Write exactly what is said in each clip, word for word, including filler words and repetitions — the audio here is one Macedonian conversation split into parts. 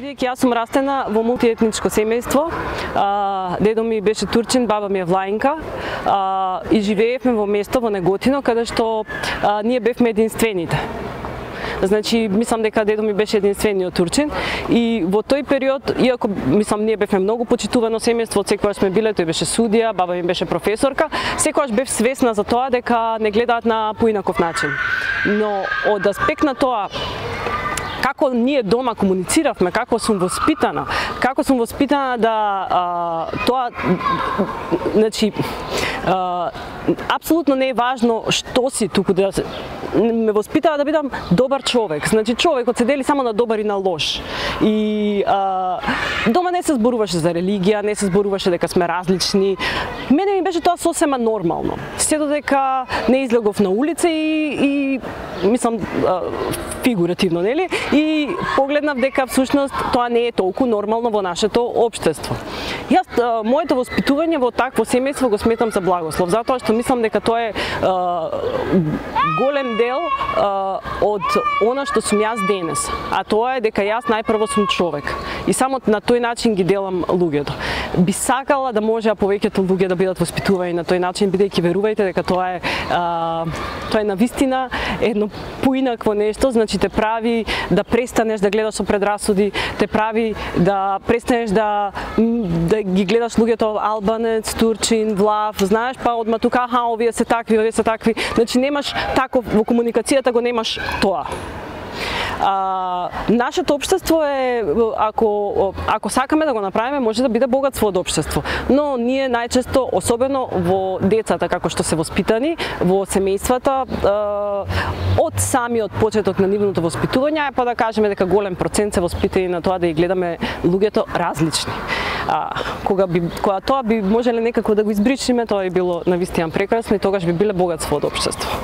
Бидејќи јас сум растена во мултиетничко семејство, дедо ми беше турчин, баба ми е влаинка и живеевме во место во Неготино каде што ние бевме единствените. Значи, мислам дека дедо ми беше единствениот турчин и во тој период, иако мислам ние бевме многу почитувано семејство, од секогаш сме биле, тој беше судија, баба ми беше професорка, секогаш бев свесна за тоа дека не гледаат на поинаков начин. Но од аспект на тоа како ние дома комунициравме, како сум воспитана, како сум воспитана да а, тоа, значи, а, апсолутно не е важно што си, туку да ме воспитава да бидам добар човек. Значи човекот се дели само на добар и на лош. И а, дома не се зборуваше за религија, не се зборуваше дека сме различни. Мене ми беше тоа сосема нормално. Се додека не излегов на улица и, и мислам а, фигуративно, нели? И погледнав дека всушност тоа не е толку нормално во нашето општество. Јас а, моето воспитување во такво семејство го сметам за благослов, затоа што мислам дека тоа е а, голем дел а, од она што сум јас денес, а тоа е дека јас најпрво сум човек и само на тој начин ги делам луѓето. Би сакала да можеа повеќето луѓе да бидат воспитувани на тој начин, бидејќи верувајте дека тоа е а, тоа е навистина едно поинакво нешто, значи те прави да престанеш да гледаш со предрасуди, те прави да престанеш да да ги гледаш луѓето албанец, турчин, влав, знаеш, па одма тука аха овие се такви, овие се такви, значи немаш таков во комуникацијата го немаш тоа. А, нашето општество е, ако, ако сакаме да го направиме, може да биде богатство од општество. Но ние најчесто, особено во децата, како што се воспитани, во семејствата, од самиот почеток на нивното воспитување, па да кажеме дека голем процент се воспитани на тоа да ги гледаме луѓето различни. А, кога, би, кога тоа би можеле некако да го избричиме, тоа би било навистина прекрасно и тогаш би биле богатство од општество.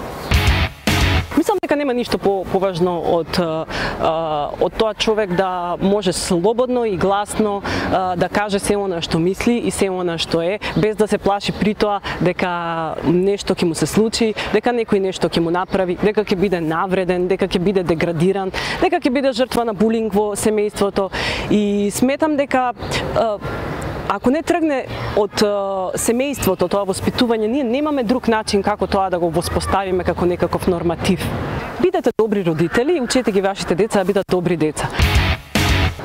Мислам дека нема ништо по, поважно од, а, од тоа човек да може слободно и гласно а, да каже се она што мисли и се она што е, без да се плаши при тоа дека нешто ќе му се случи, дека некој нешто ќе му направи, дека ќе биде навреден, дека ќе биде деградиран, дека ќе биде жртва на булинг во семејството. И сметам дека а, ако не тргне од uh, семејството тоа воспитување, ние немаме друг начин како тоа да го воспоставиме како некаков норматив. Бидете добри родители и учете ги вашите деца да бидат добри деца.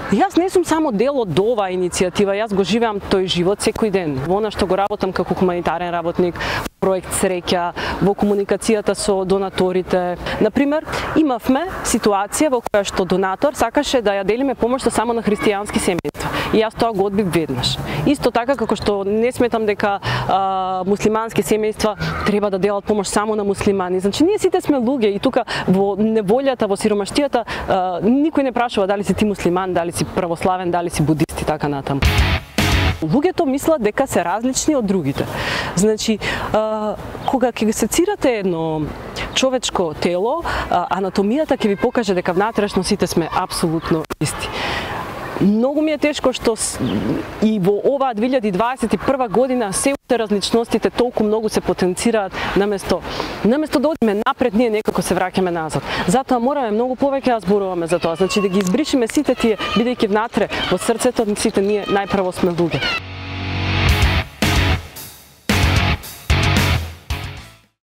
Јас не сум само дел од оваа иницијатива, јас го живеам тој живот секој ден. Во она што го работам како хуманитарен работник, проект Среќа, во комуникацијата со донаторите. Например, имавме ситуација во која што донатор сакаше да ја делиме помошта само на христијански семејства. И јас тоа го одбив веднаш. Исто така како што не сметам дека а, муслимански семејства треба да делат помош само на муслимани. Значи ние сите сме луѓе и тука во неволјата, во сиромаштијата а, никој не прашува дали си ти муслиман, дали си православен, дали си будист и така натаму. Луѓето мислат дека се различни од другите. Значи, а, кога ќе се цирате едно човечко тело, а, анатомијата ќе ви покаже дека внатрешно сите сме апсолутно исти. Многу ми е тешко што и во оваа две илјади дваесет и прва година се уште различностите толку многу се потенцираат, наместо наместо да одиме напред, ние некако се враќаме назад. Затоа мораме многу повеќе да зборуваме за тоа, значи да ги избришиме сите тие, бидејќи внатре во срцето сите ние најпрво сме луѓе.